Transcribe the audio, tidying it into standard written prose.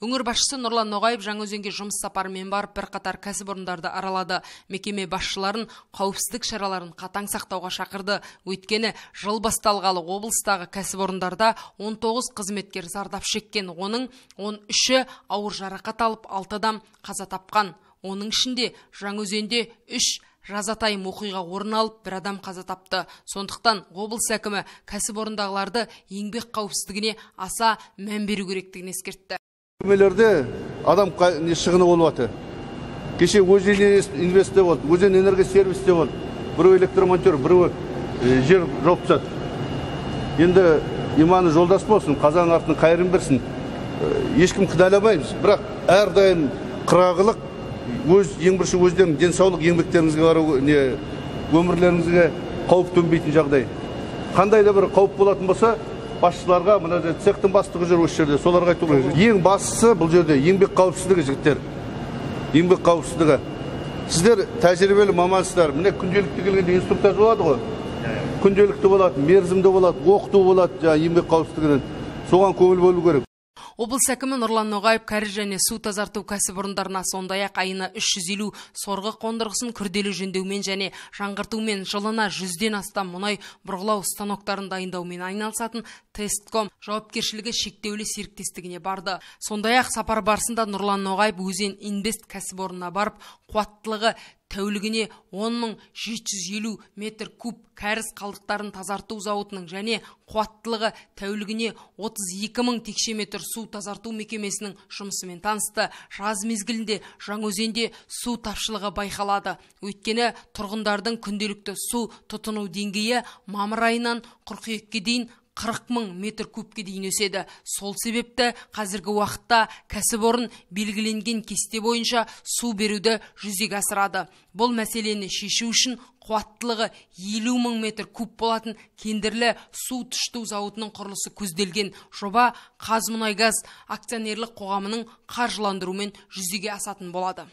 Өңір басшысы Нұрлан Ноғаев Жаңаөзенге жұмыс сапарымен барып бірқатар кәсіпорындарды аралады. Мекеме басшыларын қауіпсіздік шараларын қатаң сақтауға шақырды. Өйткені жыл басталғалы облыстағы кәсіпорындарда 19 қызметкер зардап шеккен, оның 13-і ауыр жарақат алып, 6 адам қаза тапқан. Оның ішінде Жаңаөзенде 3 жазатайым оқиға орын алып, 1 адам қаза тапты. Сондықтан облыс әкімі кәсіпорындағыларды еңбек қауіпсіздігіне аса мән беру керектігін ескертті. Мекемелерде адам шығыны болып жатыр. Кеше Өзен инвесте болды, Өзен энергосервисте болды. Біреу электромонтер, біреу жер жауып тастады. Енді иманы жолдас болсын, қазаның артын қайырын берсін. Ешкім кінәламаймыз, бірақ әрдайым қырағылық, ең бірінші өздерінің денсаулық еңбектеріңізге қарау, өмірлеріңізге қауіп төнбейтін жағдай. Қандай да бір қауіп болатын болса, басшыларға, мына цехтың бастығы жүр осы жерде, соларға айту керек. Ең бастысы бұл жерде еңбек қауіпсіздігі, жігіттер. Еңбек қауіпсіздігі. Сіздер тәжірибелі мамансыздар. Міне күнделікті келгенде инструктаж болады ғой. Күнделікті болады, мерзімді болады, оқыту болады, еңбек қауіпсіздігінен. Соған көңіл бөлу керек. Облыс әкімі Нұрлан Ноғаев кәріз және су тазарту кәсіпорындарына сондай-ақ айына 350 сорғы қондырғысын күрделі жөндеумен және жаңғыртумен, жылына 100-ден астам мұнай бұрғылау станоктарын дайындаумен айналысатын Тестком жауапкершілігі шектеулі серіктестігіне барды. Сондай-ақ сапар барысында Нұрлан Ноғаев Өзен Инвест кәсіпорнына барып, қуаттылығы тәулігіне 10.750 метр куб кәріз қалдықтарын тазарту зауытының және қуаттылығы тәулігіне 32.000 текше метр су тазарту мекемесінің жұмысымен танысты. Жаз мезгілінде Жаңаөзенде су тапшылығы байқалады. Өйткені тұрғындардың күнделікті су тұтыну деңгейі мамыр айынан қыркүйекке дейін 40.000 метр кубке дейін өседі. Сол себепті қазіргі уақытта кәсіпорын белгіленген кесте бойынша су беруді жүзеге асырады. Бұл мәселені шешу үшін қуаттылығы 50.000 метр куб болатын кендірлі су тұщыту зауытының құрылысы көзделген. Жоба Қазмұнайгаз акционерлік қоғамының қаржыландыруымен жүзеге асатын болады.